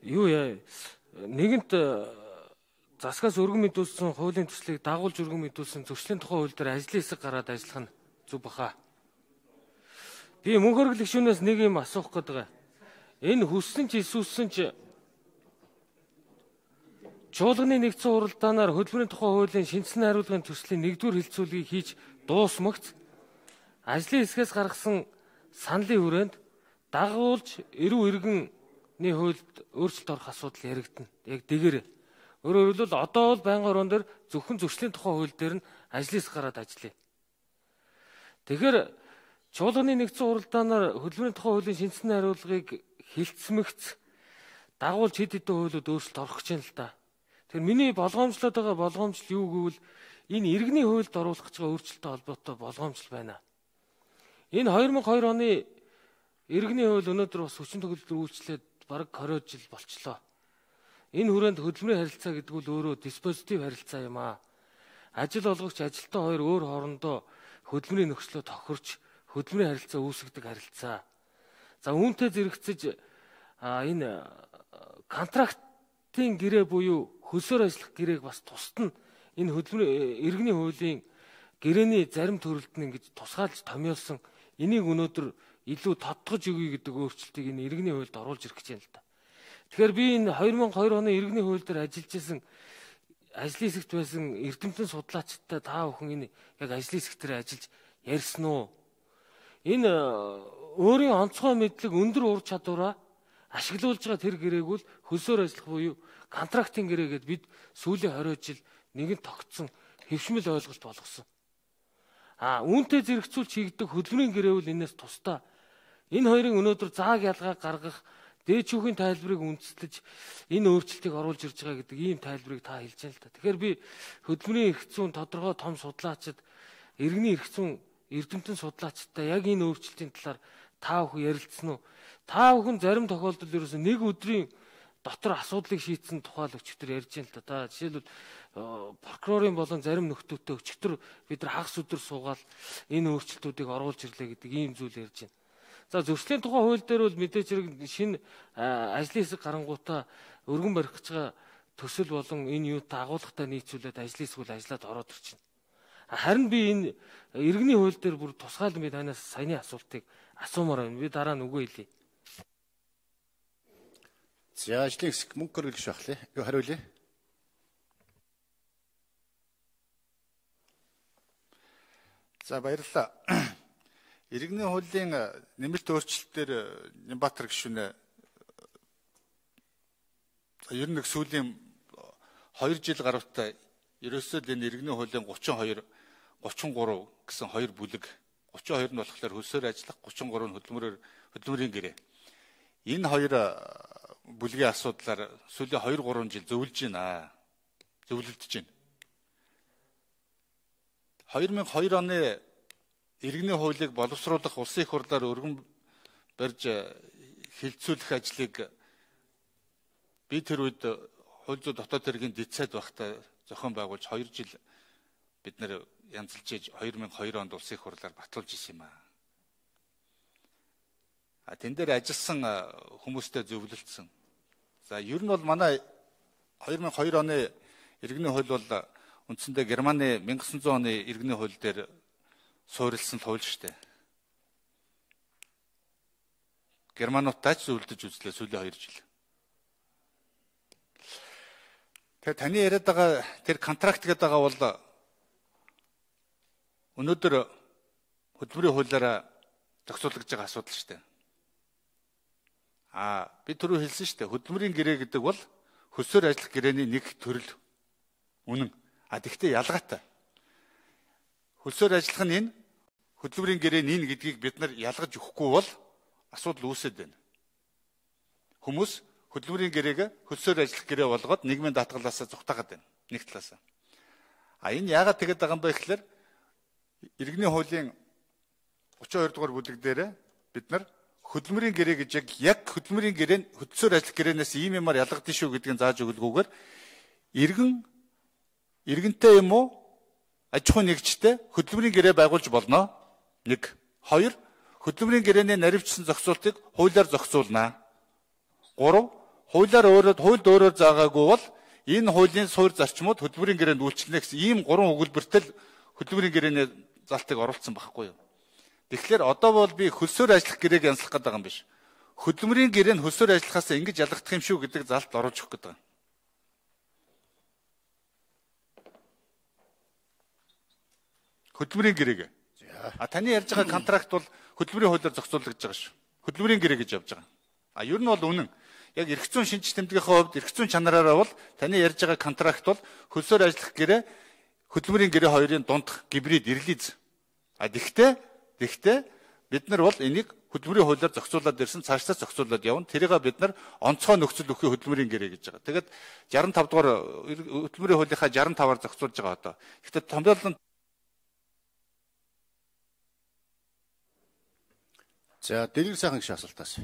юу яа нэгэнт засгаас өргөн мэдүүлсэн хуулийн төслийг дагуулж өргөн мэдүүлсэн зөрчлийн тухай хууль дээр ажлын хэсэг гараад ажиллах нь зүг баха. Би мөнх хөргөл гишүүнээс нэг юм асуух гэдэг. Энэ хүссэн ч эсвэлсэн ч чуулганы нэгдсэн хуралдаанаар хөдөлмөрийн тухай хуулийн шинжилсэн хариулгын төслийн 1-р хэлцүүлгийг хийж дуусмагц ажлын хэсгээс гаргасан саналын хүрээнд дагуулж эрүү иргэнний хуульд өөрчлөлт орох асуудал яригдана. Яг дэгээр. Өөрөөр хэлбэл одоо бол байнгын орон дээр зөвхөн зөрчлийн тухай хууль дээр нь ажлын хэсэг гараад ажиллая. Тэгэхээр чуулганы нэгдсэн хуралдаанаар хөдөлмөрийн тухай хуулийн шинжилсэн хариулгыг хилцмэгц дагуулж хэд хэдэн хуулиуд өөрчлөлт орох гэж байна л да. Тэгэхээр миний болгоомжлоод байгаа болгоомжл юу гэвэл энэ иргэний хуульд оруулах гэж байгаа өөрчлөлттэй холбоотой болгоомжл байна. Энэ 2002 оны иргэний хууль өнөөдөр бас хүчин төгөлдөр үйлчлээд бараг 20 жил болчлоо. Энэ хүрээнд хөдөлмөрийн харилцаа гэдэг нь өөрөө диспозитив харилцаа юм аа. Ажил олгогч ажилтан хоёр өөр хоорондоо хөдөлмөрийн нөхцлөө тохирч хөдөлмөрийн харилцаа үүсгэдэг харилцаа. За үүнтэй зэрэгцэж энэ контрактын гэрээ буюу хөлсөөр ажиллах гэрээг бас тусад нь энэ хөдөлмөрийн иргэний хуулийн гэрээний зарим төрөлд нь ингэж тусгаалж томьёолсон энийг өнөөдөр илүү тодтогж өгье гэдэг өөрчлөлтийг энэ иргэний хуульд оруулж ирэх гэж байна л да. Тэгэхээр би энэ 2002 оны иргэний хууль дээр ажиллаж исэн ажлын хэсэгт байсан эрдэмтэн судлаачтай та бүхэн энэ яг ажлын хэсэг дээр ажиллаж ярьсан уу? Энэ өөрийн онцгой мэдлэг өндөр ур чадвараа ашиглуулж байгаа тэр гэрээг бол хөлсөөр ажиллах буюу контрактын гэрээ гэдээ бид сүүлийн 20 жил нэгэн тогтсон хэвшмэл ойлголт болгосон. Үүнтэй зэрэгцүүлж хийгдэх хөдөлмөрийн гэрээ бол энэс тусдаа. Энэ хоёрын өнөөдөр зааг ялгаа гаргах дээд шүүхийн тайлбарыг үндэслэж энэ өөрчлөлтийг оруулж ирж байгаа гэдэг ийм тайлбарыг та хэлж байна л да. Тэгэхээр би хөдөлмөрийн эрх зүйн тодорхой том судлаачид, иргэний эрх зүйн эрдэмтэн судлаачтай яг энэ өөрчлөлтийн талаар та бүхэн ярилцсан уу? Та бүхэн зарим тохиолдолд ерөөсөн нэг өдрийн дотор асуудлыг шийдсэн тухай л өчигдөр ярьж байна л да. Жишээлбэл прокурорын болон зарим нөхдөөтэй өчигдөр бид нар хагас өдөр суугаад энэ өөрчлөлтүүдийг оруулж ирлээ гэдэг ийм зүйл ярьж байна. За зөрчлийн тухай хууль дээр бол мэдээж хэрэг шинэ ажлын хэсэг гарангуудаа өргөн барих гэж байгаа төсөл болон энэ юутай агуулгатай нийцүүлээд ажлын хэсгүүл ажиллаад ороод ирж байна. Харин би энэ иргэний хууль дээр бүр тусгайл би танаас саяны асуултыг асуумаар байна. Би дараа нь үгүй хэлье. За ажлын хэсэг мөнгө хөргөлж шахлаа. Юу хариулъя? За баярлалаа. Иргэний хуулийн нэмэлт өөрчлөлтөөр Нямбатар гишүүнээ ер нь сүүлийн 2 жил гаруйтай ерөөсөө л энэ иргэний хуулийн 32, 33 гэсэн хоёр бүлэг 32 нь болохоор хөлсөөр ажиллах, 33 нь хөдөлмөрийн гэрээ. Энэ хоёр бүлгийн асуудлаар сүүлийн 2-3 жил зөвлөлдөж байна. 2002 оны иргэний хуулийг боловсруулах улсын их хурлаар өргөн барьж хилцүүлэх ажлыг би тэр үед хууль зүйн дотоод хэргийн дэд сайд байхдаа зохион байгуулж 2 жил бид нэр янзалж иж 2002 онд улсын их хурлаар батлуулж исэн юм аа. Тэн дээр ажилласан хүмүүстэй зөвлөлдсөн. За ер нь бол манай 2002 оны иргэний хууль бол үндсэндээ Германы 1900 оны иргэний хууль дээр суурилсан хууль шүү дээ. Германуудтай ч зөвлөдөж үзлээ сүүлийн 2 жил. Тэгээ таны яриад байгаа тэр контракт гэдэг байгаа бол өнөөдөр хөдөлмөрийн хуулиараа зохицуулж байгаа асуудал шүү дээ. Би түрүү хэлсэн шүү дээ. Хөдөлмөрийн гэрээ гэдэг бол хөлсөөр ажиллах гэрээний нэг төрөл. Үнэн. Тэгтээ ялгаатай. Хөлсөөр ажиллах нь энэ, хөдөлмөрийн гэрээ нь энэ гэдгийг бид нар ялгаж өгөхгүй бол асуудал үүсэт байна. Хүмүүс хөдөлмөрийн гэрээг хөлсөөр ажиллах гэрээ болгоод нийгмийн даатгалаасаа зүгтаагаад байна. Нэг талаасаа. Энэ яагаад тэгээд байгаа юм бэ гэхээр иргэний хуулийн 32 дугаар бүлэг дээр бид нар хөдөлмөрийн гэрээ гэж яг хөдөлмөрийн гэрээ нь хөдөлсөөр ажиллах гэрээнээс ийм юмар ялгагдсан шүү гэдгийг зааж өгөлгүйгээр иргэнтэй юм уу аж ахуйн нэгжтэй хөдөлмөрийн гэрээ байгуулж болно. 1. 2. Хөдөлмөрийн гэрээний наривчсан зохицуултыг хуулиар зохицуулнаа. 3. хуульд өөрөөр заагаагүй бол энэ хуулийн суурь зарчмууд хөдөлмөрийн гэрээнд үйлчлэнэ гэсэн ийм 3 өгүүлбэртэй л хөдөлмөрийн гэрээний залтыг оруулсан байхгүй юу. Тэгэхээр одоо бол би хөлсөөр ажиллах гэрээг янзлах гэдэг юм биш. Хөдөлмөрийн гэрээ нь хөлсөөр ажиллахаас ингэж ялгагдах юм шүү гэдэг залт оруулж өгөх гэдэг. Хөдөлмөрийн гэрээг. Таны ярьж байгаа контракт бол хөдөлмөрийн хуулиар зохицуулагдж байгаа шүү. Хөдөлмөрийн гэрээ гэж явж байгаа. Ер нь бол үнэн. Яг эрх зүйн шинж тэмдгийнхээ хувьд эрх зүйн чанараараа бол таны ярьж байгаа контракт бол хөлсөөр ажиллах гэрээ хөдөлмөрийн гэрээ хоёрын дундх гибрид ирлиз. Гэхдээ бид нар бол энийг хөдөлмөрийн хуулиар зохицуулаад ирсэн, цаашлаа зохицуулаад явна. Тэрийг бид нар онцгой нөхцөл өгөх хөдөлмөрийн гэрээ гэж байгаа. Тэгээд 65 дугаар хөдөлмөрийн хуулийнхаа 65-аар зохицуулж байгаа одоо. Гэхдээ томьёолон За, дэлгэр сайхан гiş асуултаас.